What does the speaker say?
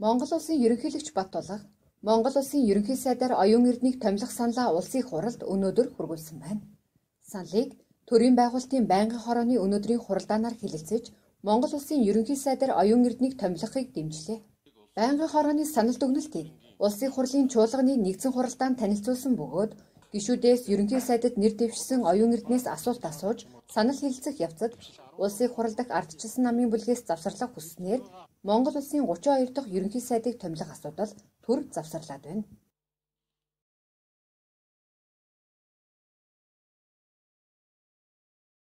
Монгол улсын ерөнхийлөгч Баттулга Монгол улсын ерөнхий сайдаар оюун эрднийг томилох саналаа улсын хуралд өнөөдөр хүргүүлсэн байна. Саналыг төрийн байгуулалтын байнгын хорооны өнөөдрийн хуралдаанаар хэлэлцэж, Монгол улсын ерөнхий сайдаар оюун эрднийг томилохыг дэмжлээ. Байнгын хорооны санал дүгнэлтийг улсын хурлын чуулганы нэгдсэн хуралдаанд танилцуулсан бөгөөд гишүүдээс ерөнхий сайдад нэр дэвшсэн оюун эрднээс асуулт асууж санал хэлэлцэх явцад улсын хурал дахь ардчилсан намын бүлгээс завсарлага хүсснээр Монгол улсын 32 дахь ерөнхий сайдыг томилох асуудал төр завсарлаад байна.